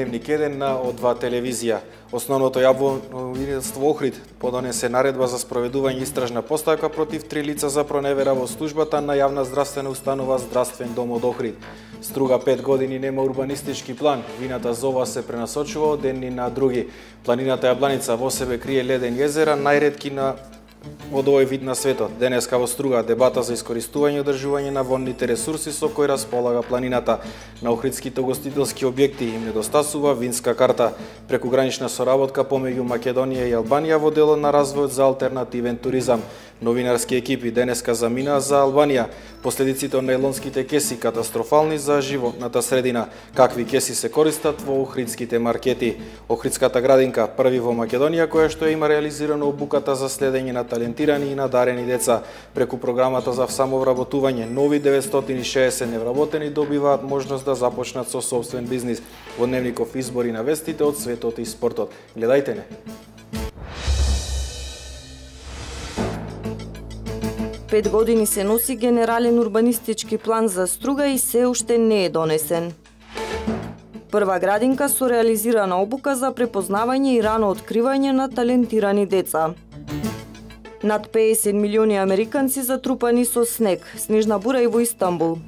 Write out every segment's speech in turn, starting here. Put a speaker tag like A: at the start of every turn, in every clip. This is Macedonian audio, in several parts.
A: Дневник 1 на О2 телевизија. Основното јавно обвинителство Охрид подонесе наредба за спроведување истражна постапка против 3 лица за проневера во службата на јавна здравствена установа Здравствен дом од Охрид. Струга 5 години нема урбанистички план, вината за ова се пренасочува од едни на други. Планината Јабланица во себе крие леден језера, најретки од овој вид на светот. Денеска во Струга дебата за искористување и одржување на водните ресурси со кои располага планината. На охридските угостителски објекти им недостасува винска карта. Прекугранична соработка помеѓу Македонија и Албанија во делот на развојот за алтернативен туризам. Новинарски екипи денеска заминаа за Албанија. Последиците од најлонските кеси катастрофални за животната средина. Какви кеси се користат во охридските маркети? Охридската градинка, први во Македонија, која што има реализирано обуката за следење на талентирани и надарени деца. Преку програмата за самовработување, нови 960 невработени добиваат можност да започнат со сопствен бизнис. Во Дневников избори на вестите од светот и спортот. Гледајте не!
B: 5 години се носи генерален урбанистички план за Струга и се уште не е донесен. Прва градинка со реализирана обука за препознавање и рано откривање на талентирани деца. Над 50 милиони американци затрупани со снег, снежна бура и во Истанбул.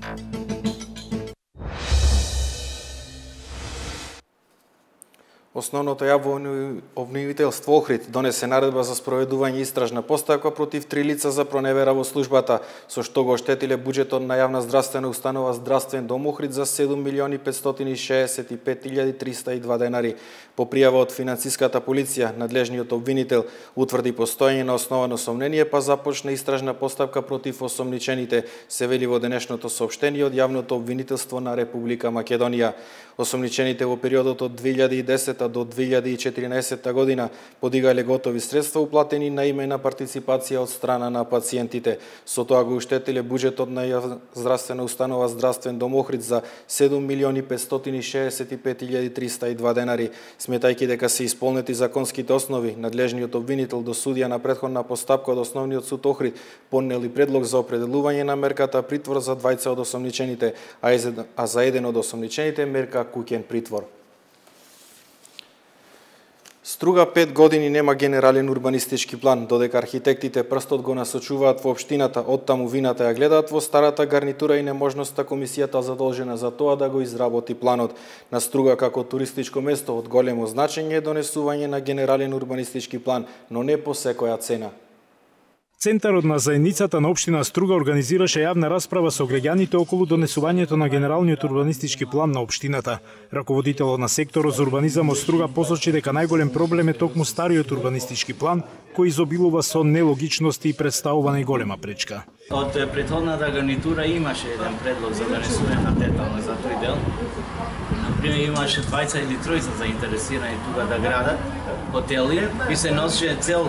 A: Основното јавно обвинителство Охрид донесе наредба за спроведување истражна постапка против 3 лица за проневера во службата, со што го оштетиле буџетот на јавна здравствена установа Здравствен дом Охрид за 7.565.302 денари. По пријава од финансиската полиција, надлежниот обвинител утврди постоење на основано сомнение, па започна истражна постапка против осомничените, се вели во денешното соопштение од јавното обвинителство на Република Македонија. Осомничените во периодот од 2010 до 2014 година подигале готови средства уплатени на име на партиципација од страна на пациентите. Со тоа го уштетиле буџетот на јавна здравствена установа Здравствен дом Охрид за 7.565.302 денари. Сметајќи дека се исполнети законските основи, надлежниот обвинител до судија на претходна постапка од Основниот суд Охрид поднели предлог за определување на мерката притвор за двајца од осомничените, а за еден од осомничените мерка куќен притвор. Струга 5 години нема генерален урбанистички план, додека архитектите прстот го насочуваат во општината, оттаму вината ја гледаат во старата гарнитура и неможноста комисијата задолжена за тоа да го изработи планот. На Струга како туристичко место од големо значење е донесување на генерален урбанистички план, но не по секоја цена.
C: Центарот на заедницата на општина Струга организираше јавна расправа со граѓаните околу донесувањето на генералниот урбанистички план на општината. Раководителот на секторот за урбанизам од Струга посочи дека најголем проблем е токму стариот урбанистички план, кој изобилува со нелогичности и представува најголема пречка.
D: Од претходната гарнитура имаше еден предлог за донесување на детално за тој дел. Например, имаше двајца или тројца заинтересирани тука да градат хотели и се носеше цел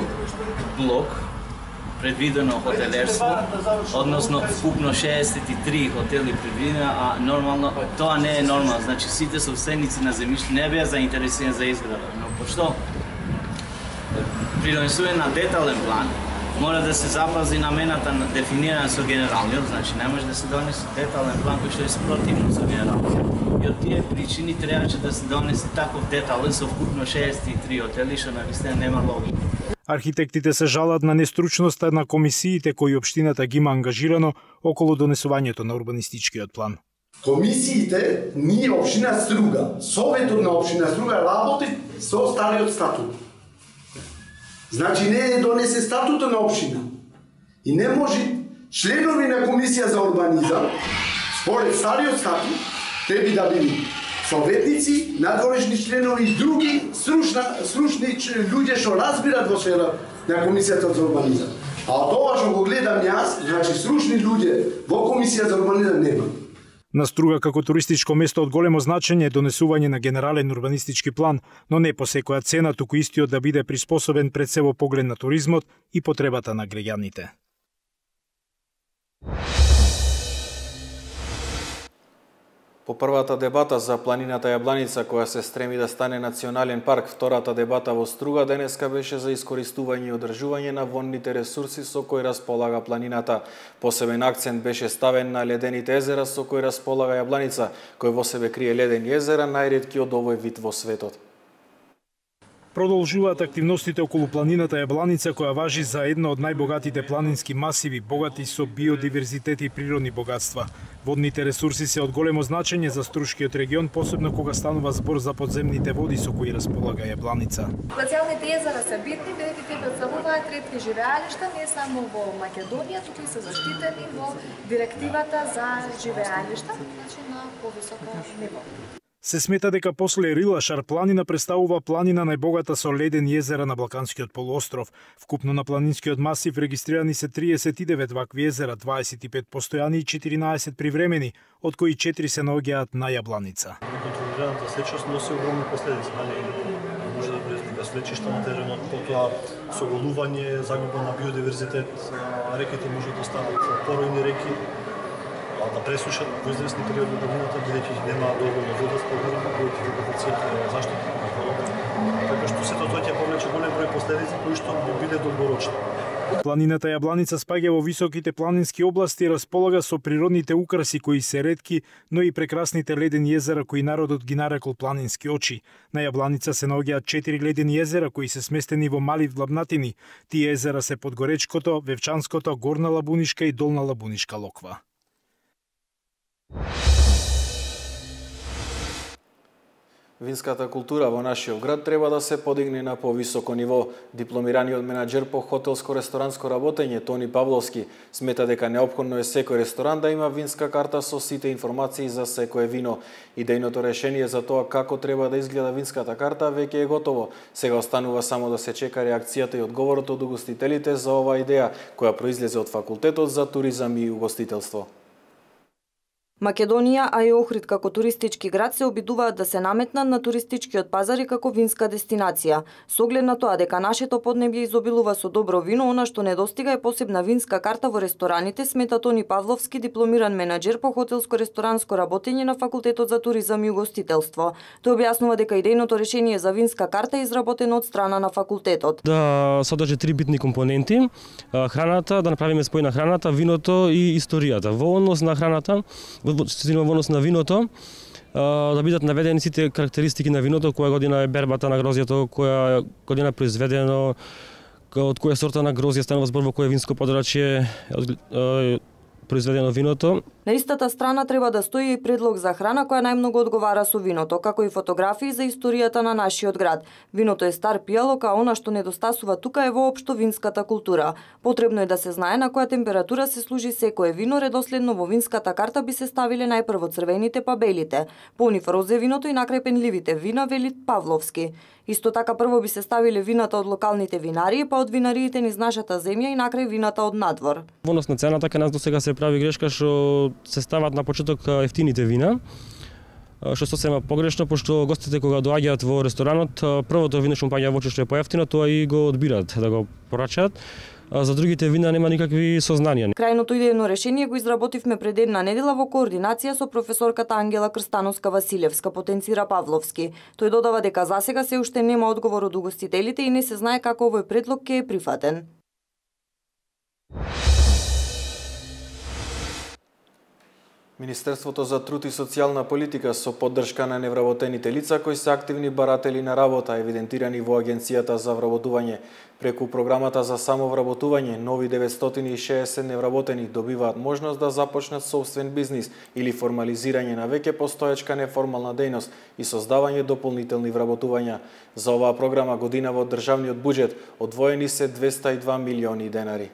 D: блок предвидено хотелерство, односно вкупно 63 хотели предвидено, а нормално тоа не е нормално. Значи сите собственици на земјиште не беа заинтересирани за изграда, но пошто при донесување на детален план мора да се запази намената на дефинирана со генералниот, значи не може да се донесе детален план кој што е спротивно со генералниот. И од тие причини требаше да се донесе таков детален со вкупно 63 хотели, што навистина нема логика.
C: Архитектите се жалат на нестручноста на комисиите кои општината ги има ангажирано околу донесувањето на урбанистичкиот план.
E: Комисиите, ние општина Струга, Советот на општина Струга работи со стариот статут. Значи не е донесе статутот на општина. И не може членови на комисија за урбанизам, според стариот статут, треба да бидат советници, надворешни членови и други стручни луѓе што разбират во сфера на комисијата за урбанизам. А од ова што го гледам јас, значи стручни луѓе во комисија за урбанизам нема.
C: На Струга како туристичко место од големо значење е донесување на генерален урбанистички план, но не по секоја цена, туку истиот да биде приспособен пред се во поглед на туризмот и потребата на граѓаните.
A: По првата дебата за планината Јабланица, која се стреми да стане национален парк, втората дебата во Струга денеска беше за искористување и одржување на вонните ресурси со кои располага планината. Посебен акцент беше ставен на ледените езера со кои располага Јабланица, кој во себе крие ледени езера, најретки од овој вид во светот.
C: Продолжуваат активностите околу планината Јабланица, која важи за една од најбогатите планински масиви, богати со биодиверзитет и природни богатства. Водните ресурси се од големо значење за Струшкиот регион, посебно кога станува збор за подземните води со кои располага Јабланица.
F: Глацијалните езера се битни, бидејќи тие претставуваат ретки живеалишта не само во Македонија, туку и се заштитени во директивата за живеалишта, значи на повисоко ниво.
C: Се смета дека после Рилашар планина представува планина најбогата со ледени езера на Балканскиот полуостров. Вкупно на планинскиот масив регистрирани се 39 вакви езера, 25 постојани и 14 привремени, од кои 4 се наоѓаат на Јабланица.
G: Контролираната сечност носи огромни последици, може да предизвика свлечишта на теренот, потоа соголување, загуба на биодиверзитет, реките може да станат поројни реки, да пресушат во известни периоди од годината, бидејќи нема доволно вода според којите капацитет заштита на водата. Така што сето тоа ќе повлече голем број последици кои што би биле долгорочни.
C: Планината Јабланица спаѓа во високите планински области и располага со природните украси кои се ретки, но и прекрасните ледени езера кои народот ги нарекол планински очи. На Јабланица се наоѓаат 4 ледени езера кои се сместени во мали влабнатини. Тие езера се Подгоречкото, Вевчанското, Горна Лабунишка и Долна Лабунишка локва.
A: Винската култура во нашиот град треба да се подигне на повисоко ниво. Дипломираниот менаџер по хотелско-ресторанско работење Тони Павловски смета дека неопходно е секој ресторан да има винска карта со сите информации за секое вино. Идејното решение за тоа како треба да изгледа винската карта веќе е готово. Сега останува само да се чека реакцијата и одговорот од угостителите за оваа идеја, која произлезе од Факултетот за туризам и угостителство.
B: Македонија, а и Охрид како туристички град се обидуваат да се наметнат на туристичкиот пазар и како винска дестинација. Со оглед на тоа дека нашето поднебје изобилува со добро вино, она што недостига е посебна винска карта во рестораните, смета Тони Павловски, дипломиран менаџер по хотелско-ресторанско работење на Факултетот за туризам и угостителство. Тој објаснува дека идејното решение за винска карта е изработено од страна на факултетот.
H: Да содржи 3 битни компоненти: храната, да направиме спој на храната, виното и историјата. Во однос на храната, во однос на виното, да бидат наведени сите карактеристики на виното, која година е бербата на грозјето, која година е произведено, од која сорта на грозје станува збор, во кое винско подрачје произведено виното.
B: На истата страна треба да стои и предлог за храна која најмногу одговара со виното, како и фотографии за историјата на нашиот град. Виното е стар пијалок, а она што недостасува тука е воопшто винската култура. Потребно е да се знае на која температура се служи секое вино, редоследно во винската карта би се ставиле најпрво црвените па белите, понив розе виното и накрај пенливите вина, вели Павловски. Исто така прво би се ставиле вината од локалните винари, па од винариите низ нашата земја и накрај вината од надвор.
H: Во однос на цената, кај нас досега се прави грешка што се стават на почеток ефтините вина, што сосема погрешно, пошто гостите кога доаѓаат во ресторанот, првото вино што паѓа во очи што е поевтино, тоа и го одбираат да го порачаат. За другите вина нема никакви сознанија.
B: Крајното идејно решение го изработивме пред една недела во координација со професорката Ангела Крстановска-Василевска, потенцира Павловски. Тој додава дека засега се уште нема одговор од угостителите и не се знае како овој предлог ќе е прифатен.
A: Министерството за труд и социјална политика со поддршка на невработените лица кои се активни баратели на работа, евидентирани во Агенцијата за вработување, преку програмата за самовработување, нови 960 невработени добиваат можност да започнат собствен бизнис или формализирање на веќе постоечка неформална дејност и создавање дополнителни вработувања. За оваа програма годинава од државниот буџет одвоени се 202 милиони денари.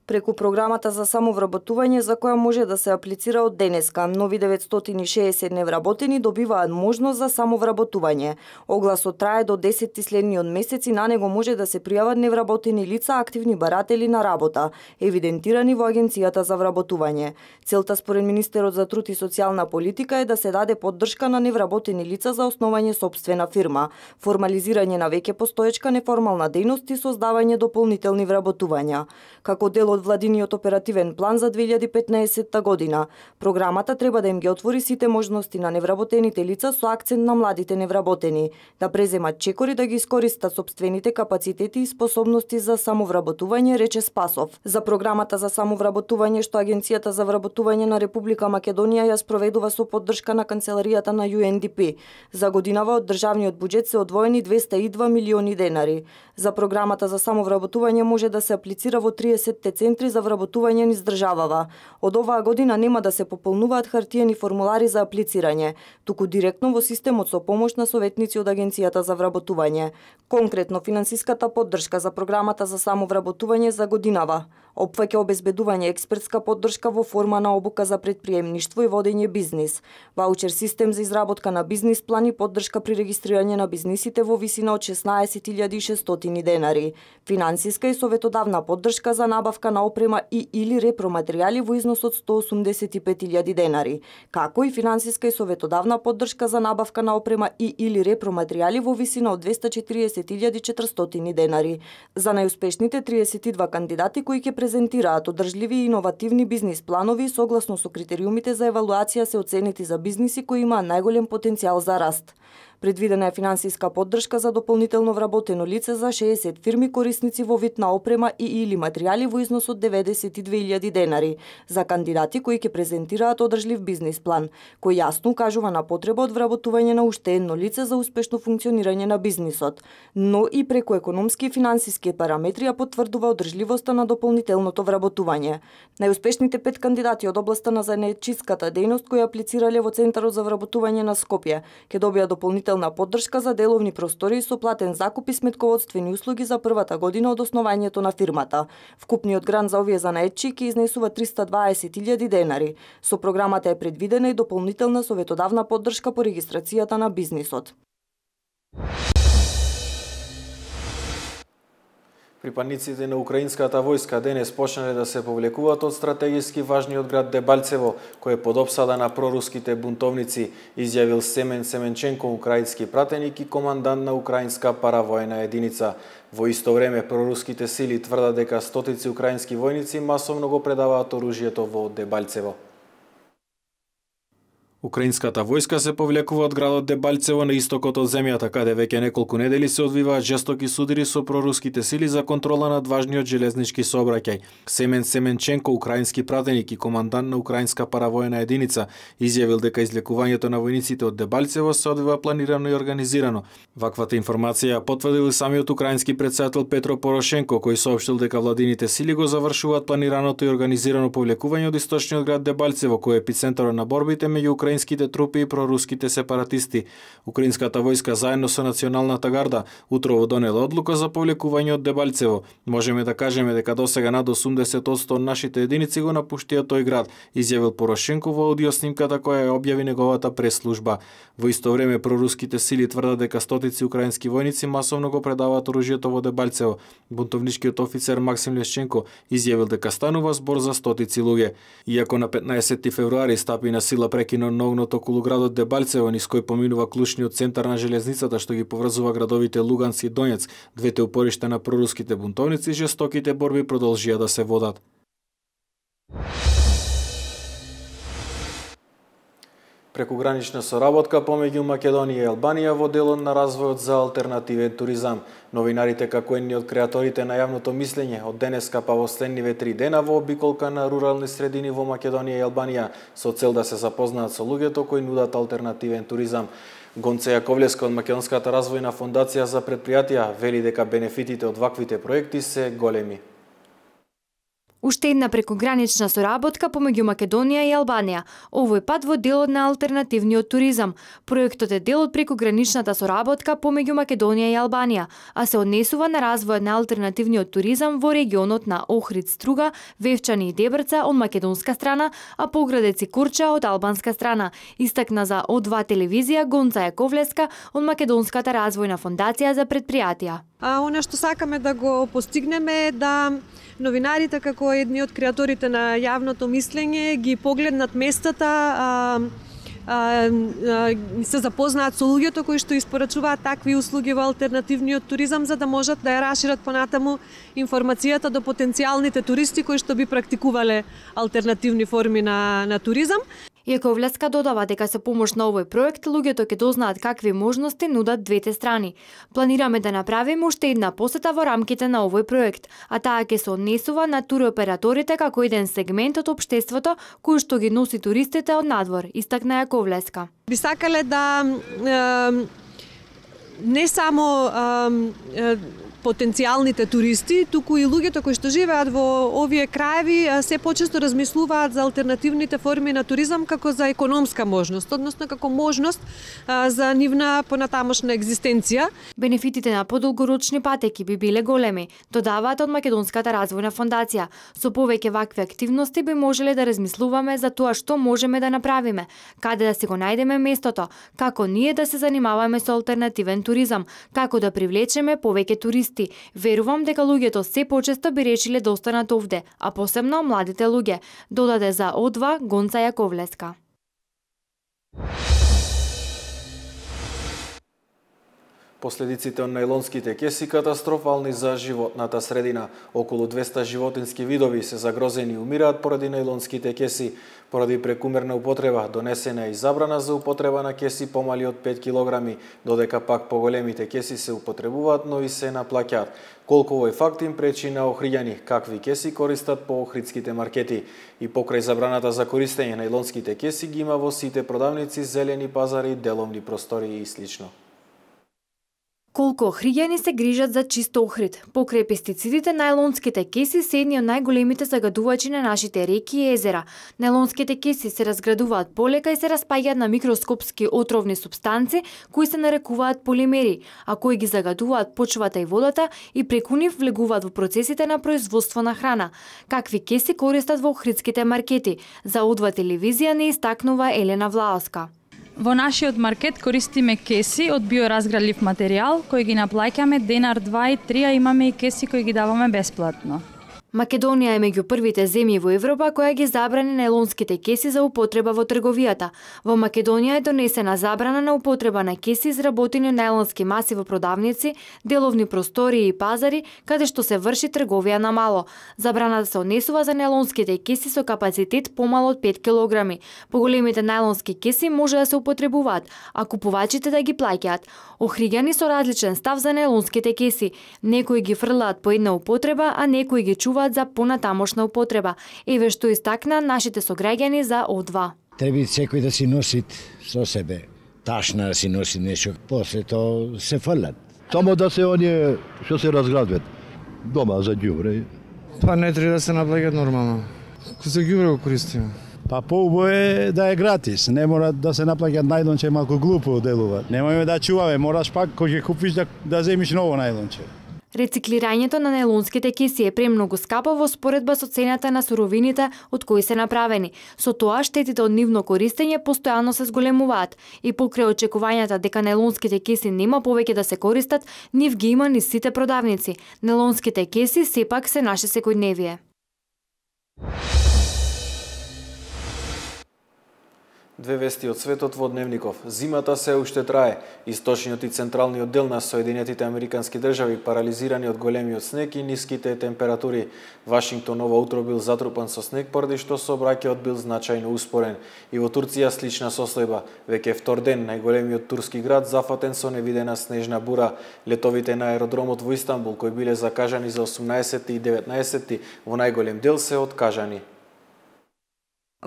B: Преку програмата за самовработување за која може да се аплицира од денеска, нови 960 невработени добиваат можност за самовработување. Огласот трае до 10 следниот месец и на него може да се пријават невработени лица, активни баратели на работа, евидентирани во Агенцијата за вработување. Целта според Министерот за труд и социјална политика е да се даде поддршка на невработени лица за основање сопствена фирма, формализирање на веќе постоечка неформална дејност и создавање дополнителни вработувања. Како дел од од владиниот оперативен план за 2015 година. Програмата треба да им ги отвори сите можности на невработените лица со акцент на младите невработени, да преземат чекори да ги искористат сопствените капацитети и способности за самовработување, рече Спасов. За програмата за самовработување што Агенцијата за вработување на Република Македонија ја спроведува со поддршка на канцеларијата на UNDP. За годинава од државниот буџет се одвоени 202 милиони денари. За програмата за самовработување може да се аплицира во 30 центри за вработување низ државава. Од оваа година нема да се пополнуваат хартиени формулари за аплицирање, туку директно во системот со помош на советници од Агенцијата за вработување. Конкретно, финансиската поддршка за програмата за самовработување за годинава опфаќа обезбедување експертска поддршка во форма на обука за предприемништво и водење бизнис, ваучер систем за изработка на бизнис план и поддршка при регистрирање на бизнисите во висина од 16.600 денари, финансиска и советодавна поддршка за набавка на опрема и или репроматеријали во износ од 185.000 денари, како и финансиска и советодавна поддршка за набавка на опрема и или репроматеријали во висина од 240.400 денари за најуспешните 32 кандидати кои ќе презентираат одржливи и иновативни бизнис планови согласно со критериумите за евалуација се оценети за бизниси кои имаат најголем потенцијал за раст. Предвидена е финансиска поддршка за дополнително вработено лице за 60 фирми корисници во вид на опрема и или материјали во износ од 92.000 денари за кандидати кои ќе презентираат одржлив бизнис план, кој јасно укажува на потреба од вработување на уште едно лице за успешно функционирање на бизнисот, но и преку економски и финансиски параметри ја потврдува одржливоста на дополнителното вработување. Најуспешните 5 кандидати од областа на занаетчиската дејност кои аплицирале во Центарот за вработување на Скопје ќе добијат дополнителна поддршка за деловни простори со платен закуп и сметководствени услуги за првата година од основањето на фирмата. Вкупниот грант за овие занаетчи ќе изнесува 320.000 денари. Со програмата е предвидена и дополнителна советодавна поддршка по регистрацијата на бизнисот.
A: Припадниците на украинската војска денес почнале да се повлекуваат од стратегиски важниот град Дебальцево, кој е под опсада на проруските бунтовници, изјавил Семен Семенченко, украински пратеник и командант на украинска паравојна единица. Во исто време, проруските сили тврдат дека стотици украински војници масовно го предаваат оружјето во Дебальцево. Украинската војска се повлекува од градот Дебальцево на истокот од земјата, каде веќе неколку недели се одвиваат жестоки судири со проруските сили за контрола над важниот железнички сообраќај. Семен Семенченко, украински пратеник и командант на украинска паравојна единица, изјавил дека излекувањето на војниците од Дебальцево се одвива планирано и организирано. Ваквата информација ја потврдил самиот украински претседател Петро Порошенко, кој соопштил дека владините сили го завршуваат планираното и организирано повлекување од источниот град Дебальцево, кој е епицентарот на борбите меѓу украинските трупи и проруските сепаратисти. Украинската војска заедно со Националната гарда утрово донела одлука за повлекување од Дебальцево. Можеме да кажеме дека досега над 80% од нашите единици го напуштија тој град, изјавил Порошенко во аудиоснимката која ја објави неговата прес-служба. Во исто време проруските сили тврдат дека стотици украински војници масовно го предаваат оружјето во Дебальцево. Бунтовничкиот офицер Максим Лешченко изјавил дека станува збор за стотици луѓе. Иако на 15 февруари стапи на сила прекинот на огнот околу градот Дебальцево, низ кој поминува клучниот центар на железницата што ги поврзува градовите Луганск и Донецк, двете упоришта на проруските бунтовници, жестоките борби продолжија да се водат. Прекугранична соработка помеѓу Македонија и Албанија во делот на развојот за алтернативен туризам. Новинарите, како едни од креаторите на јавното мислење, од денеска па во следниве 3 дена во обиколка на рурални средини во Македонија и Албанија, со цел да се запознаат со луѓето кои нудат алтернативен туризам. Гонце Јаковлевска од Македонската развојна фондација за предпријатија вели дека бенефитите од ваквите проекти се големи.
I: Уште една прекугранична соработка помеѓу Македонија и Албанија, овој пат во делот на алтернативниот туризам. Проектот е дел од прекуграничната соработка помеѓу Македонија и Албанија, а се однесува на развојот на алтернативниот туризам во регионот на Охрид, Струга, Вевчани и Дебрца од македонска страна, а Поградец и Курча од албанска страна, истакна за О2 телевизија Гонца Јаковлевска од Македонската развојна фондација за предпријатија.
J: Она што сакаме да го постигнеме е да новинарите, како едни од креаторите на јавното мислење, ги погледнат местата се запознаат со луѓето кои што испорачуваат такви услуги во алтернативниот туризам, за да можат да ја расшират понатаму информацијата до потенцијалните туристи кои што би практикувале алтернативни форми на туризам.
I: Јаковлеска додава дека со помош на овој проект луѓето ќе дознаат какви можности нудат двете страни. Планираме да направиме уште една посета во рамките на овој проект, а таа ќе се однесува на туроператорите како еден сегмент од општеството кој што ги носи туристите од надвор, истакна Јаковлеска.
J: Би сакале да не само потенцијалните туристи, туку и луѓето кои што живеат во овие краеви се почесто размислуваат за алтернативните форми на туризам како за економска можност, односно како можност за нивна понатамошна екзистенција.
I: Бенефитите на подолгорочни патеки би биле големи, додаваат од Македонската развојна фондација. Со повеќе вакви активности би можеле да размислуваме за тоа што можеме да направиме, каде да си го најдеме местото, како ние да се занимаваме со алтернативен туризам, како да привлечеме повеќе туристи. Верувам дека луѓето се почесто би решиле да останат овде, а посебно младите луѓе, додаде за О2 Гонца Јаковлеска.
A: Последиците од најлонските кеси катастрофални за животната средина. Околу 200 животински видови се загрозени и умираат поради најлонските кеси. Поради прекумерна употреба донесена и забрана за употреба на кеси помали од 5 килограми, додека пак поголемите кеси се употребуваат, но и се наплаќаат. Колку овој факт им пречи на охриѓани какви кеси користат по охридските маркети. И покрај забраната за користење најлонските кеси ги има во сите продавници, зелени пазари, деловни простори и слично.
I: Колку охриѓани се грижат за чист охрид. Покрај пестицидите, најлонските кеси се едни од најголемите загадувачи на нашите реки и езера. Најлонските кеси се разградуваат полека и се распаѓаат на микроскопски отровни супстанци кои се нарекуваат полимери, а кои ги загадуваат почвата и водата и преку нив влегуваат во процесите на производство на храна. Какви кеси користат во охридските маркети? За О2 телевизија не истакнува Елена Влаоска.
K: Во нашиот маркет користиме кеси од биоразградлив материјал, кои ги наплаќаме денар 2 и 3, а имаме и кеси кои ги даваме бесплатно.
I: Македонија е меѓу првите земји во Европа која ги забрани најлонските кеси за употреба во трговијата. Во Македонија е донесена забрана на употреба на кеси изработени од најлонски маси во продавници, деловни простори и пазари, каде што се врши трговија на мало. Забраната се однесува за најлонските кеси со капацитет помал од 5 килограми. Поголемите најлонски кеси може да се употребуваат, а купувачите да ги плаќаат. Охриѓани со различен став за најлонските кеси. Некои ги фрлаат по една употреба, а некои ги чуваат за понатамошна употреба. Еве што истакна нашите сограѓани за О2.
L: Треба секој да си носи со себе ташна, да си носи нешто, после тоа се фрлат.
M: Само да се оние што се разградват дома за ѓубре.
N: Па не треба да се наплаќаат нормално. За ѓубре го користиме.
M: Па поубаво е да е гратис, не мора да се наплаќаат најлонче, малку глупо делува. Немојме да чуваме, мораш пак кога ќе купиш да земиш ново најлонче.
I: Рециклирањето на најлонските кеси е премногу скапо во споредба со цената на суровините од кои се направени. Со тоа штетите од нивно користење постојано се зголемуваат и покрај очекувањата дека најлонските кеси нема повеќе да се користат, нив ги има низ сите продавници. Најлонските кеси сепак се наше секојдневие.
A: Две вести од светот во Дневников. Зимата се уште трае. Источниот и централниот дел на Соединетите Американски држави парализирани од големиот снег и ниските температури. Вашингтон ова утро бил затрупан со снег поради што сообраќајот бил значајно успорен. И во Турција слична состојба. Веќе втор ден најголемиот турски град зафатен со невидена снежна бура. Летовите на аеродромот во Истанбул кои биле закажани за 18 и 19 во најголем дел се откажани.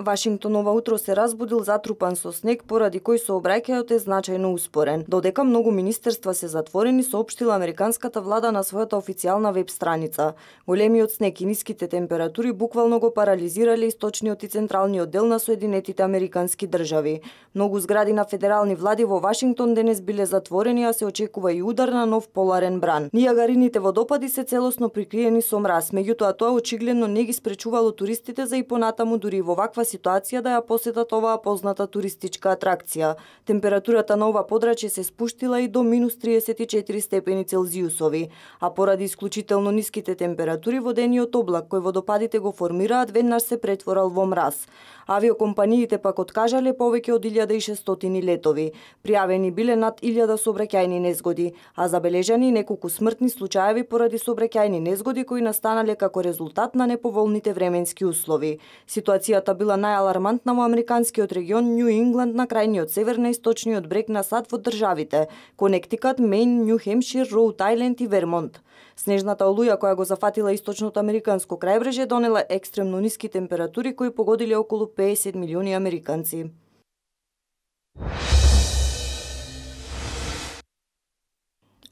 B: Вашингтон ова утро се разбудил затрупан со снег поради кој сообраќајот е значајно успорен. Додека многу министерства се затворени, соопштила американската влада на својата официјална веб страница. Големиот снег и ниските температури буквално го парализирале источниот и централниот дел на Соединетите Американски држави. Многу згради на федерални влади во Вашингтон денес биле затворени, а се очекува и удар на нов поларен бран. Нијагарините водопади се целосно прикриени со мраз, меѓутоа тоа очигледно не ги спречувало туристите за и понатаму дури во ваква ситуација да ја посетат оваа позната туристичка атракција. Температурата на ова подрачје се спуштила и до минус 34 степени Целзиусови, а поради исклучително ниските температури водениот облак кој водопадите го формираат веднаш се претворал во мраз. Авиокомпаниите пак откажале повеќе од 1600 летови. Пријавени биле над 1000 сообраќајни незгоди, а забележани неколку смртни случаеви поради сообраќајни незгоди кои настанале како резултат на неповолните временски услови. Ситуацијата била најалармантна во американскиот регион Њу Ингланд на крајниот север на источниот брег на САД во државите Конектикат, Мејн, Њу Хемшир, Роуд Ајленд и Вермонт. Снежната олуја која го зафатила источното американско крајбрежје донела екстремно ниски температури кои погодиле околу 50 милиони американци.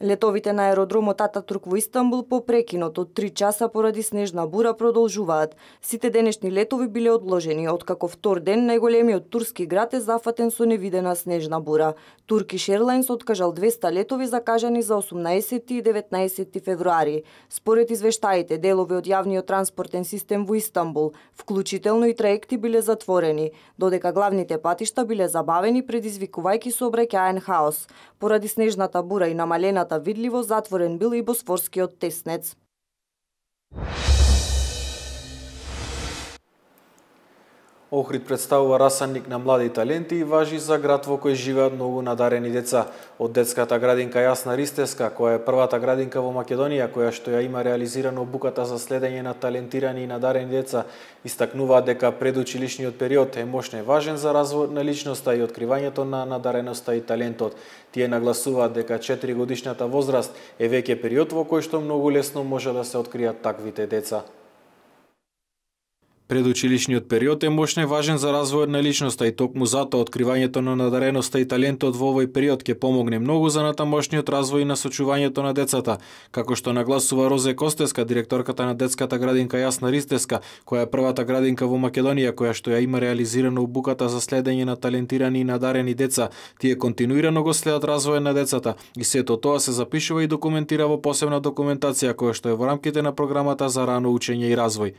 B: Летовите на аеродромот Ататурк во Истанбул по прекинот од 3 часа поради снежна бура продолжуваат. Сите денешни летови биле одложени, откако втор ден најголемиот турски град е зафатен со невидена снежна бура. Turkish Airlines откажал 200 летови закажани за 18 и 19 февруари. Според извештаите, делови од јавниот транспортен систем во Истанбул, вклучително и траекти биле затворени, додека главните патишта биле забавени, предизвикувајќи сообраќаен хаос. Поради снежната бура и намалената видливост, затворен бил и Босфорскиот теснец.
A: Охрид представува расанник на млади таленти и важи за град во кој живеат многу надарени деца. Од детската градинка Јасна Ристеска, која е првата градинка во Македонија која што ја има реализирано обуката за следење на талентирани и надарени деца, истакнуваат дека предучилишниот период е мощно важен за развојот на личноста и откривањето на надареноста и талентот. Тие нагласуваат дека 4-годишната возраст е веќе период во кој што многу лесно може да се откријат таквите деца. Предучилишниот период е мощно важен за развојот на личноста и токму затоа откривањето на надареноста и талентот во овој период ќе помогне многу за натамошниот развој и насочувањето на децата, како што нагласува Розе Костеска, директорката на детската градинка Јасна Ристеска, која е првата градинка во Македонија која што ја има реализирано обуката за следење на талентирани и надарени деца. Тие континуирано го следат развојот на децата и сето тоа се запишува и документира во посебна документација која што е во рамките на програмата за рано учење и развој.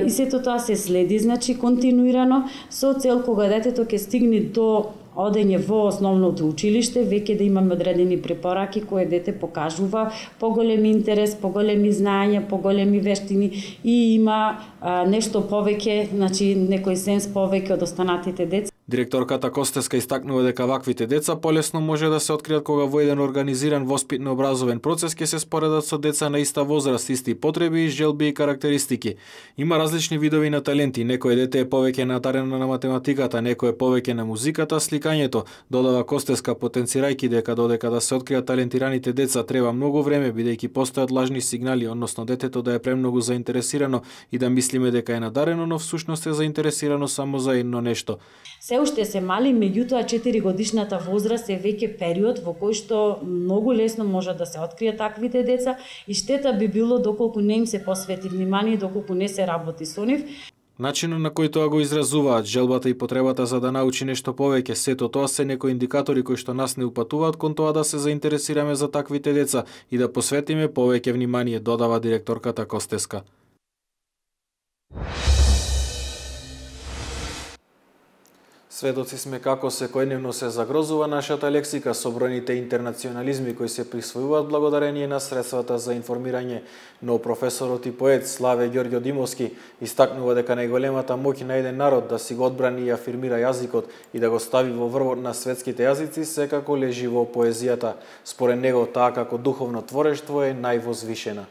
O: И сето тоа се следи, значи континуирано со цел кога детето ќе стигне до одење во основното училиште, веќе да имаме одредени препораки кои дете покажува поголем интерес, поголеми знаења, поголеми вештини и има нешто повеќе, значи некој сенс повеќе од останатите деца.
A: Директорката Костеска истакнува дека ваквите деца полесно може да се откријат кога во еден организиран воспитно-образовен процес ќе се споредат со деца на иста возраст, исти потреби, желби и карактеристики. Има различни видови на таленти, некој дете е повеќе натарено на математиката, некој е повеќе на музиката, сликањето, додава Костеска, потенцирајќи дека додека да се откријат талентираните деца треба многу време бидејќи постојат лажни сигнали, односно детето да е премногу заинтересирано и да мислиме дека е надарено, но всушност е заинтересирано само за едно нешто.
O: Се уште се мали, меѓутоа 4-годишната возраст е веќе период во кој што многу лесно може да се откријат таквите деца и штета би било доколку не им се посвети внимание, доколку не се работи со нив.
A: Начинот на кој тоа го изразуваат, желбата и потребата за да научи нешто повеќе, сето тоа се некои индикатори кои што нас не упатуваат кон тоа да се заинтересираме за таквите деца и да посветиме повеќе внимание, додава директорката Костеска. Сведоци сме како секојдневно се загрозува нашата лексика со бројните интернационализми кои се присвојуваат благодарение на средствата за информирање, но професорот и поет Славе Ѓорѓодимовски истакнува дека најголемата моќ на еден народ да си го одбрани и афирмира јазикот и да го стави во врвот на светските јазици секако лежи во поезијата. Според него таа како духовно творештво е највозвишена.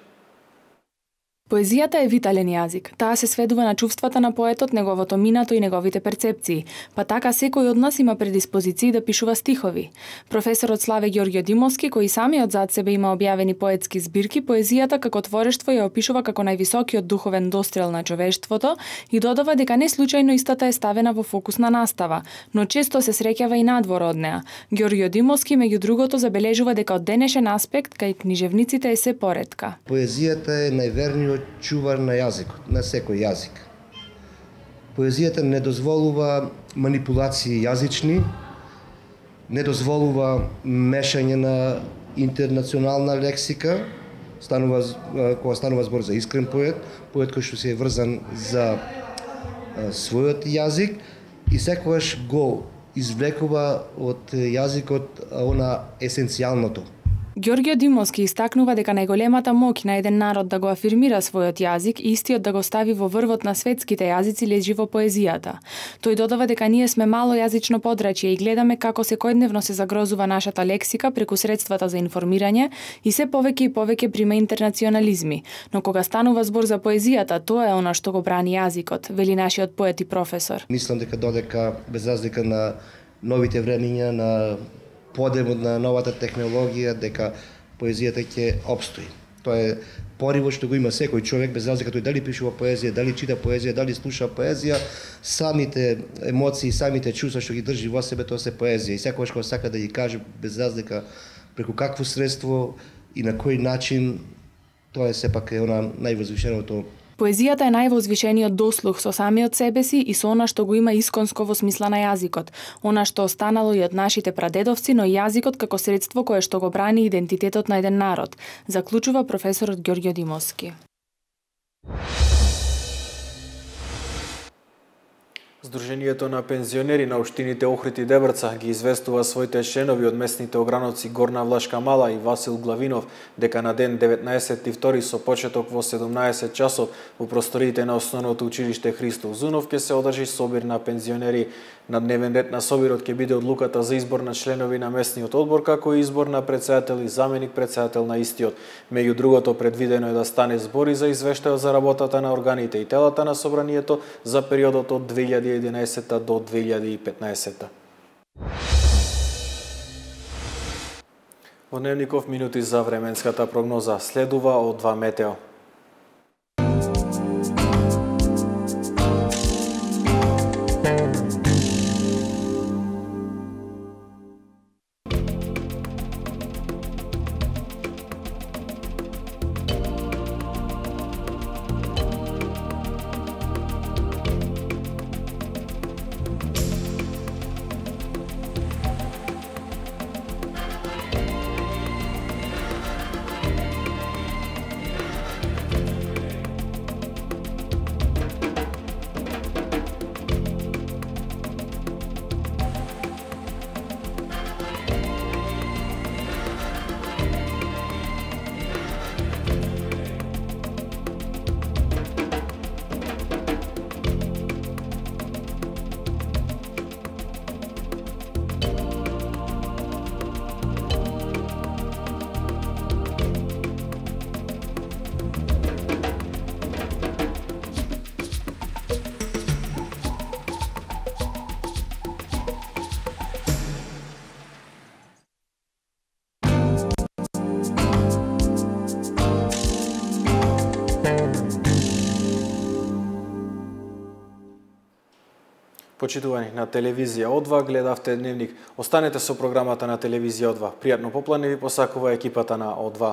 P: Поезијата е витален јазик. Таа се сведува на чувствата на поетот, неговото минато и неговите перцепции. Па така секој од нас има предиспозиции да пишува стихови. Професорот Славе Ѓорѓодимовски, кој самиот зад себе има објавени поетски збирки, поезијата како творештво ја опишува како највисокиот духовен дострел на човештвото и додава дека не случајно истата е ставена во фокусна настава, но често се среќава и надвор од неа. Ѓорѓодимовски меѓу другото забележува дека од денешен аспект кај книжевниците е се поретка.
Q: Поезијата е најверниот чувар на јазикот, на секој јазик. Поезијата не дозволува манипулации јазични, не дозволува мешање на интернационална лексика, кога станува збор за искрен поет, поет кој што се е врзан за својот јазик и секогаш го извлекува од јазикот она есенцијалното.
P: Ѓорѓе Димовски истакнува дека најголемата моќ на еден народ да го афирмира својот јазик и истиот да го стави во врвот на светските јазици лежи во поезијата. Тој додава дека ние сме мало јазично подрачје и гледаме како секојдневно се загрозува нашата лексика преку средствата за информирање и се повеќе и повеќе прима интернационализми. Но кога станува збор за поезијата, тоа е она што го брани јазикот, вели нашиот поет и професор.
Q: Мислам дека додека без разлика на новите времиња, на подемот на новата технологија, дека поезијата ќе обстои. Тоа е поривот што го има секој човек, без разлика тој дали пишува поезија, дали чита поезија, дали слуша поезија, самите емоции, самите чувства што ги држи во себе, тоа се поезија. И секогаш кога сака да ги каже, без разлика преку какво средство и на кој начин, тоа е сепак е она највозвишеното.
P: Поезијата е највозвишениот дослух со самиот себе си и со она што го има исконско во смисла на јазикот, она што останало и од нашите прадедовци, но јазикот како средство кое што го брани идентитетот на еден народ, заклучува професорот Ѓорѓе Димовски.
A: Сдруженијето на пензионери на општините Охрид и Дебрца ги известува своите членови од местните ограновци Горна Влашка Мала и Васил Главинов дека на ден 19.2 со почеток во 17 часов во просториите на Основното училиште Христо Узунов ќе се одржи собир на пензионери. На дневен ред на собирот ќе биде одлуката за избор на членови на местниот одбор, како и избор на председател и заменик председател на истиот. Меѓу другото, предвидено е да стане збори за извештајот за работата на органите и телата на собранието за периодот од 2011 до 2015. Во дневников минути за временската прогноза следува од 2 метео. Почитувани на телевизија О2, гледавте дневник. Останете со програмата на телевизија О2. Пријатно поплане ви посакува екипата на О2.